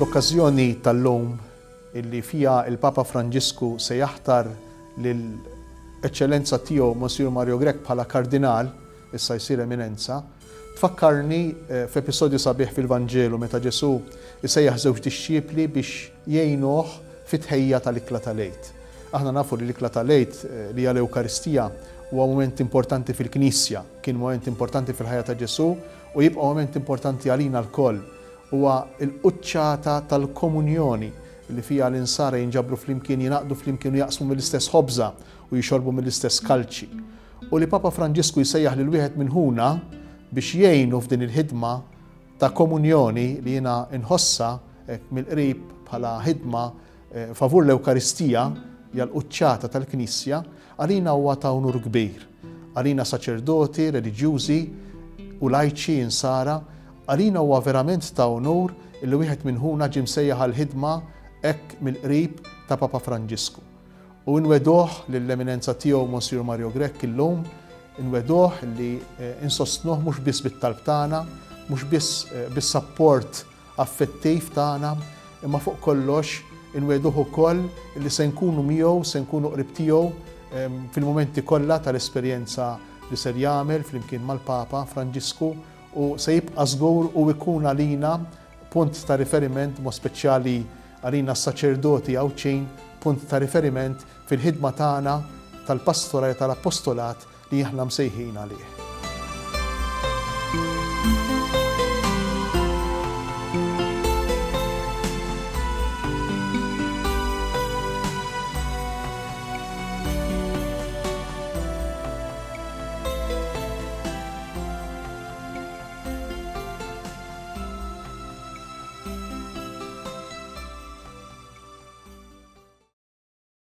L-okkażjoni tal-lum illi fiha il-Papa Franġisku se jaħtar lil Eċċellenza Tiegħu Monsignor Mario Grech bħala Kardinal, issa jsir Eminenza, tfakkarni f'episodju sabiħ fil-Vanġelu meta Ġesù jsejjaħ żewġ dixxipli biex jgħinuh fit-tħejjija tal-ikla tal-Għid. Aħna nafu li l-ikla tal-Għid, li hija l-Ewkaristija, huwa mument importanti fil-Knisja, kien mument importanti fil-ħajja ta' Ġesù u jibqa' mument importanti għalina lkoll. Huwa l-quċċata tal-komunjoni li fiha l-insara jinġabru flimkien, jingħaqdu flimkien u jaqsmu mill-istess ħobża u jixorbu mill-istess kalċi. U li Papa Franġisku jsejjaħ lil wieħed minn ħuna biex jgħinu f'din il-ħidma ta' komunjoni li jiena nħossha hekk mill-qrib bħala ħidma favur l-Ewkaristija, hija l-quċċata tal-Knisja, għalina huwa ta' unur kbir. Għalina saċerdoti, reliġjużi u lajċi insara, għalina huwa verament ta' unur illi wieħed minn ħuna ġie msejjaħ għall-ħidma hekk mill-qrib ta' Papa Franġisku. U nwegħduh lill-Eminenza Tiegħu Monsignor Mario Grech illum, inwegħduh li insostnuh mhux biss bit-talb tagħna, mhux biss bis-sapport affettiv tagħna, imma fuq kollox inwegħduh ukoll li se nkunu miegħu, se nkunu qrib tiegħu fil-mumenti kollha tal-esperjenza li ser jagħmel flimkien mal-Papa Franġisku u se jibqa' żgur u jkun għalina punt ta' riferiment mod speċjali għalina s-saċerdoti Għawdxin, punt ta' riferiment fil-ħidma tagħna tal-pastorali tal-appostolat li aħna msejħin għalih.